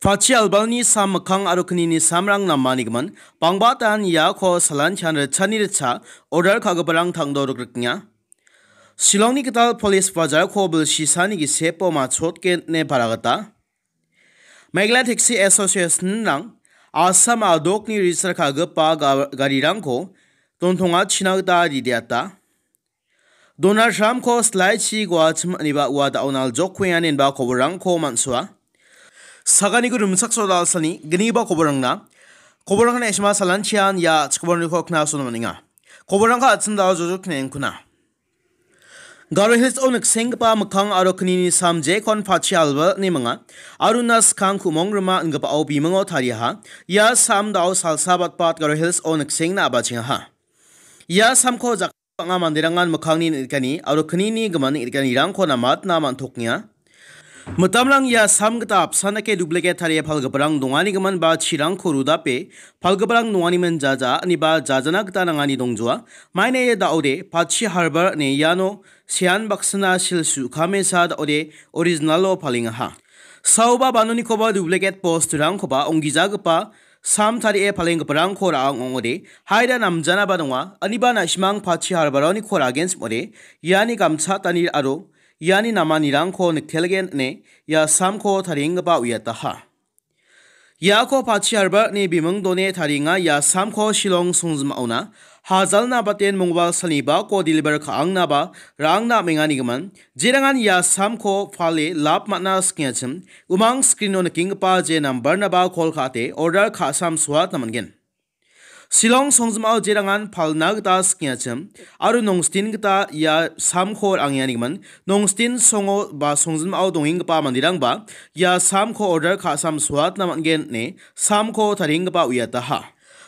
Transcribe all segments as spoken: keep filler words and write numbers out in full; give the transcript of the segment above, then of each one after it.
Pachi albalni sam mikkang aro knini samrang namanigimin, bangbatan iako salantian ritchani ritcha order ka·giparang tangdo rikrikenga. Shillongni gital polis bajarko bilsisani gisepo machotgen ine para gita, Meghalaya Taxi Association-rang Assam a·dokni register ka·gipa ga-, garirangko dontongachina gita rideata. Donald Trump-ko silaichi guachim iniba ua da·o naljokkuenga ineba koborrangko man·soa. Saganiko rimchaksoa da·alsani gniba koborrangna. Koborrangna isma salantian ia chikoborniko knasona man·enga. Koborrangko an·ching da·o jojok knengkuna. Garo Hills-o niksenggipa mikkang aro knini sam jekon Pachi albal ine minga. Aruna skang ku·mong rima ingipao bimingo tariaha. Ia sam da·o salsa batbat Garo Hills-o niksengna abachengaha. Ia samko jak- bang·a manderangan mikkangni neng·rikani aro knini gimin neng·rikanirangko namatna man·tokenga. Mitamrang ia sam gita apsan dake duplicate tarie palgiparang donganigimin ba chirangko rudape palgiparang donganimin jaja iniba jajana gita nangani dongjoa. Maina ia da·ode Pachi Harbar ine iano sean baksina sil su·kamesa da·ode original-o palengaha. Saoba banonikoba duplicate post-rangkoba onggijagipa sam tarie palenggiparangko ra·ang ong·ode, haida namjanaba donga, aniba na·simang Pachi Harbar-oniko ra·gen sim·ode, iani gamchatani aro iani namanirangko niktelgen ine ia samko tarienggipa uiataha. Iako Pachi Harbar ine biming done tarienga ia samko Shillong songjim·aona, hajalna baten mongbalsalni bako deliver ka·angnaba ra·angna amenganigimin, jerangan ia samko pale lap man·a skengachim, umang screen-o nikenggipa je nambar-naba call ka·ate order ka·sam soatna man·gen. Shillong songjim·ao jerangan palna gita skengachim, aro nongstin gita ia samko ra·angenganigimin, nongstin songo ba songjim·ao dongenggipa manderangba ia samko order ka·sam soatna man·gen ine samko tarienggipa uiataha.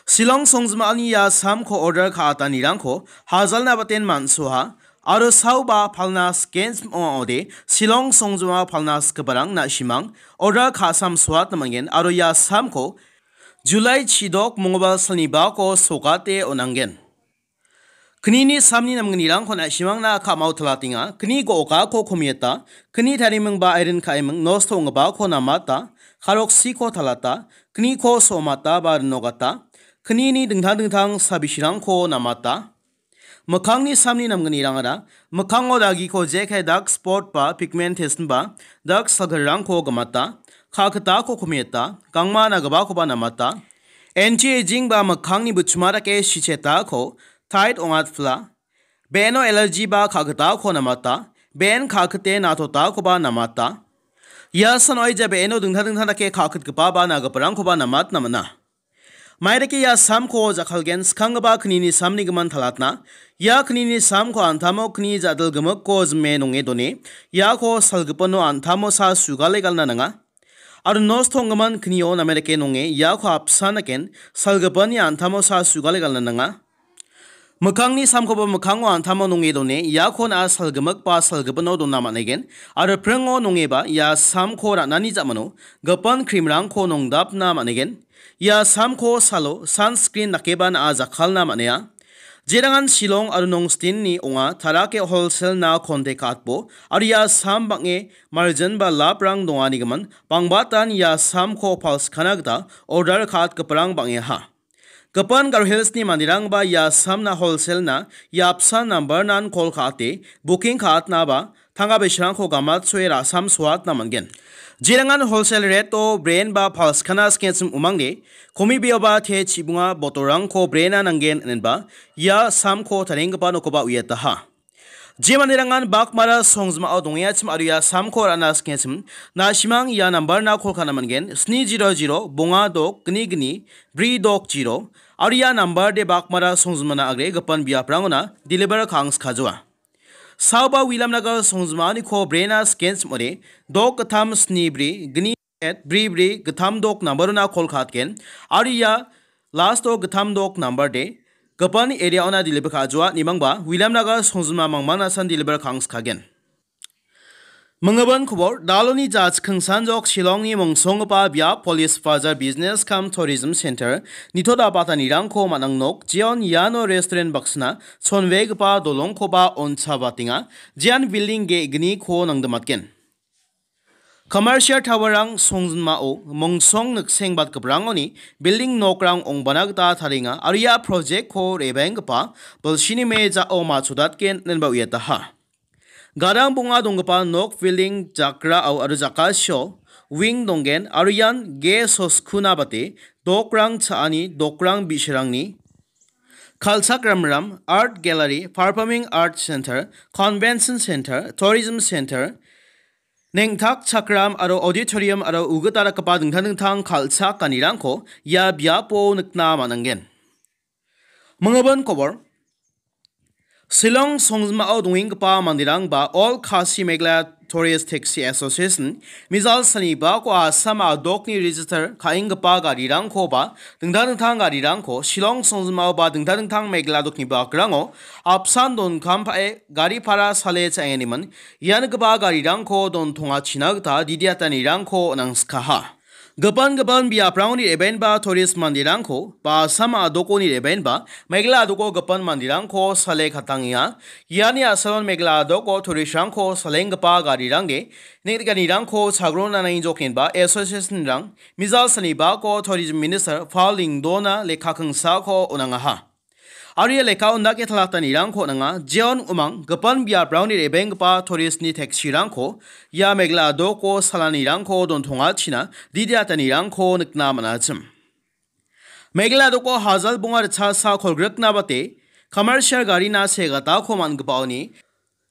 Shillong songjim·ani ia samko order ka·atanirangko hajalna baten man·soaha aro saoba palna sken sim ong·ode Shillong songjima palna sikgiparang na·simang order ka·sam soatna man·gen aro ia samko July chidok mongbalsalni bako sokate on·angen. Knini samni namgnirangko na·simangna ka·mao talatenga. Kni go·okako komieta, kni tarimingba airin ka·eming nosto ong·gipako namata, karoksiko talata, kniko somata ba rinogata, knini dingtang dingtang sabisirangko namata. Mikkangni samni namgnirangara, mikkango dagiko jekai dark spot ba pigmentation ba dark circle-rangko gimata, ka·kitako komieta, gangma nagipakoba namata, anti-aging ba mikkangni buchima dake sichetako tight ong·atpila, be·eno allergy ba ka·kitako namata, be·en ka·kite na·totakoba namata. Ia san oija be·eno dingtang dingtang dake ka·kitgipa ba nagiparangkoba namatna man·a. Maidake ia samko jakkalgen skanggipa knini samni gimin talatna. Ia knini samko an·tamo kni ja·dil gimikko jime nonge done. Iako salgipino an·tamo sa sugale galna nanga. Aro nosto ong·gimin knio name dake nonge iako apsan daken salgipini an·tamo sa sugale galna nanga. Mikkangni samkoba mikkango an·tamo nonge done, iako na·a salgimik ba salgipino dona man·egen, aro pringo nongeba ia samko ra·nani ja·mano gipin cream-rangko nongdapna man·egen. Ia samko salo sunscreen dakeba na·a jakkalna man·enga. Jerangan Shillong aro Nongstinni ong·a, tarake wholesale-na kontek ka·atbo, aro ia sam bang·e margin ba labrang donganigimin, bangbatan ia samko palskana gita order ka·atgiparang bang·eha. Gipin Garo Hills-ni manderangba ia samna wholesale-na ia apsan nambar-nan call ka·ate booking ka·atnaba tangka bisrangko gamatsoe ra·sam soatna man·gen. Jerangan wholesale rate-o brand ba palskana skengchim umangde, komibeoba te chibunga botolrangko brand-na nanggen inenba ia samko tarienggipa nokoba uiataha. Je manderangan bakmara songjimao dongengachi aro ia samko ra·na skengachi, na·simang ia nambar-na call ka·na man·gen, sni zero zero, bonga dok, gni gni, bri dok zero, aro ia nambar-de bakmara songjimana agre gipin biaprangona deliver ka·angskajoa. Saoba Williamnagar songjimaniko brand-na skengachi ong·ode, dok gittam sni bri, gni et bri bri gittam dok nambar-ona call ka·atgen. Aro ia last-o gittam dok nambar-de gipin area-ona deliver ka·ajoa, nimangba Williamnagar songjima mangmangnasan deliver ka·angskagen. Mingibin kobor, daloni jachikingsanjok Shillongni mongsonggipa biap Police Bazar Business cum Tourism Center nitoda batanirangko man·ang nok, jeon iano restaurant baksina chonbegipa dolongkoba on·chabatenga, jean building ge·gniko nangdimatgen. Commercial tower-rang songjinmao mongsong niksengbatgiparangoni building nokrang ong·bana gita tarienga aro ia project-ko re·baenggipa bilsini me·jao ma·chodatgen inenba uiataha. Gadang bonga donggipa nok building jakrao aro jakasio wing donggen aro ian ges soskuna bate dokrang cha·ani dokrang bi·sarangni kal·chakramram, art gallery, performing art center, convention center, tourism center, neng·takchakram aro auditorium aro ugitalgipa dingtang dingtang kal·chakanirangko ia biapo nikna man·angen. Minggipa kobor. Shillong songjinmao dongenggipa manderangba All Khasi Meghalaya Tourist Taxi Association, mijal sanibako Assam a·dokni register ka·enggipa garirangkoba dingtang dingtang garirangko Shillong songjinmao ba dingtang dingtang Meghalaya a·dokni bakrango apsan donkam pa·e gari para sale cha·enganiman iangipa garirangko dontongachina gita didiatanirangko nangskaha. Gipin gipin biaprangoni re·baenba tourist manderangko ba Assam a·dokoni re·baenba Meghalaya a·doko gipin manderangko sale katangenga. Iani a·salon Meghalaya a·doko tourist-rangko salenggipa garirangde neng·tikanirangko chagrona nangjokgenba association-rang mijal sanibako tourism minister Pal Lyngdoh-na lekka kingsako on·angaha. Aro ia lekka on·dake talatanirangko on·anga, jeon umang gipin biaprangni re·benggipa tourist-ni taxi-rangko ia Meghalaya a·doko salanirangko dontongachina didiatanirangko nikna man·achim. Meghalaya a·doko hajal bonga ritchasa kolgrikna bate commercial garina segatako man·gipaoni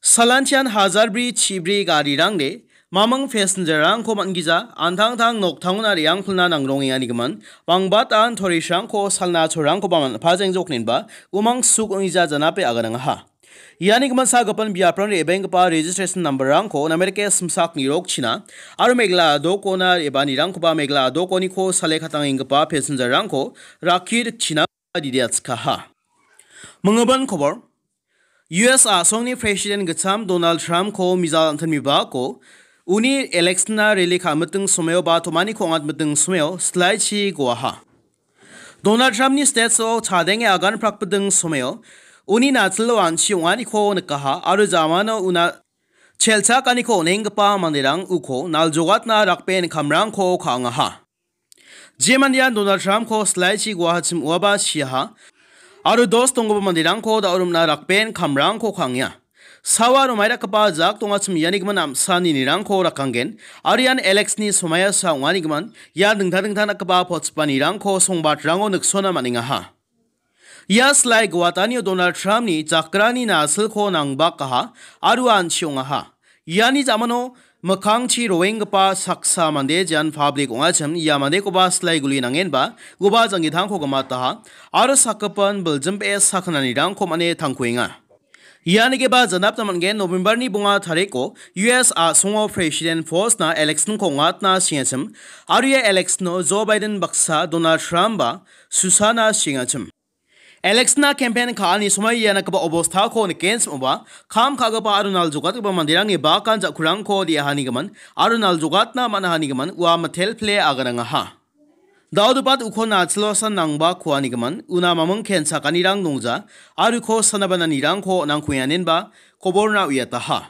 Salantian hajar bri chibri garirangde mamung passenger-rangko man·gija, antangtang noktangona re·angpilna nangrongenganigimin, bangbatan tourist-rangko salna cholrangkoba man·pajengjoknenba umang suk ong·gija janape aganangaha. Iani gimin sa gipin biaprangni re·benggipa registration number-rangko namerike simsak nirokchina aro Meghalaya a·dokona re·baanirangkoba Meghalaya a·dokoniko sale katangenggipa passenger-rangko rakki rikchina didiatskaha. Minggipa kobor. U S a·songni President gitcham Donald Trump-ko mijal an·tangni bako uni election-na rally ka·miting somoio ba tomaniko ong·atmiting somoio silaichi goaha. Donald Trump-ni stage-o chadenge agan prakbiting somoio uni natilo an·chi ong·aniko nikaha aro jamano una chelchakaniko on·enggipa manderang uko naljogatna rakben kamrangko ka·angaha. Je mandean Donald Trump-ko silaichi guahachim uaba siaha, aro dos donggipa manderangko da·o rimna rakben kamrangko ka·angenga. Sawa aro maidakgipa jak dongachim iani gimin am·sa ninirangko rakanggen, aro ian election-ni somoiasa ong·ani gimin, ian dingtang dingtang dakgipa pochipanirangko songbatrango niksona man·engaha. Ia silai guatanio Donald Trump-ni jakrani nasilko nangbakaha aro an·chi ong·aha. Iani jamano mikkangchi roenggipa saksa mande jean public ong·achim ia mandekoba silai guli nangenba uba janggitangko gimataha aro sakgipin biljimbe sakananirangko man·e tangkuenga. Ianigeba janapna man·gen November-ni bonga tariko U S a·songo President post-na election-ko ong·atna sengachim aro ia election-o Joe Biden baksa Donald Trump-ba susana sengachim. Election-na campaign ka·ani somoi ia nikgipa obostako nikenchim ong·ba, kam ka·gipa aro naljogatgipa manderangni bakan ja·kurangko de·ahanigimin aro naljogatna man·ahanigimin ua mitelpile aganangaha. Daodobat uko nachilosan nangba kuanigimin una mamung kenchakanirang dongja, aro uko sanabananirangko nangkuenganenba koborna uiataha.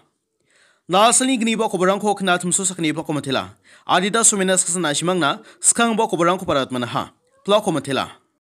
Nasilni gniba koborangko knatimso sakgniba komitela. Adita somena saksa na·simangna skangba koborangko paratmanaha. Plak komitela.